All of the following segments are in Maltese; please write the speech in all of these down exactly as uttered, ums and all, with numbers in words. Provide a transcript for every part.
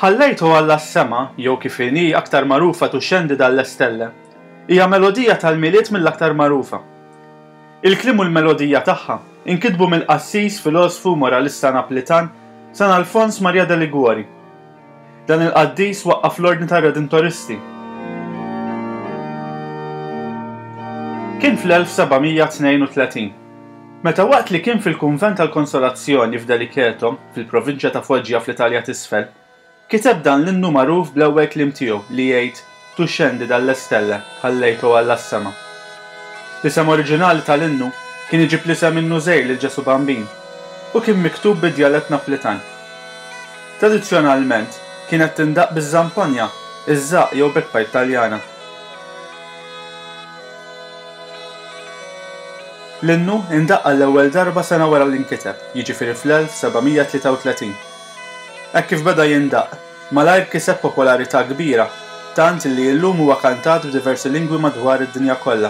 Ħallejtu Alla s-sema, jew kif inhi aktar magħrufa Tu scendi dalle stelle, hija melodija tal-Milied mill-aktar magħrufa. Il-kliem u l-melodija tagħha inkitbu mill-qassis, filosfu, moralista Naplitan San Alfons Maria de Liguori. Dan il-qaddis waqqaf l-Ordni tar-Redentoristi. Kien fl-elf seba' mija tnejn u tletin, meta waqt li kien fil-Kunvent tal-Konsolazzjoni f'Deliceto, fil-provinċja ta' Foggia fl-Italja t'Isfel, kiteb dan l-innu magħruf bl-ewwel kliem tiegħu li jgħid Tu scendi dalle stelle, ħallejtu Alla s-sema. L-isem oriġinali tal-innu kien iġib l-isem innu żgħir lil Ġesù Bambin u kien miktub bid-djalett Naplitan. Tradizzjonalment kienet tindaqq biż-żamponja, iż-żaqq jew bagpipe Taljana. L-innu indaqq għall-ewwel darba sena wara li nkiteb, jiġifieri fl-elf seba' mija tlieta u tletin. Hekk kif beda jindaqq, malajr kiseb popolarità kbira, tant li illum huwa kantat b'diversi lingwi madwar id-dinja kollha.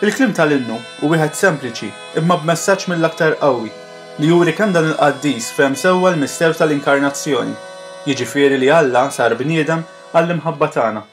Il-kliem tal-innu hu wieħed sempliċi imma b'messaġġ mill-aktar qawwi li juri kemm dan il-qaddis fehem sewwa l-misteru tal-inkarnazzjoni, jiġifieri li Alla sar bniedem għall-imħabba tagħna.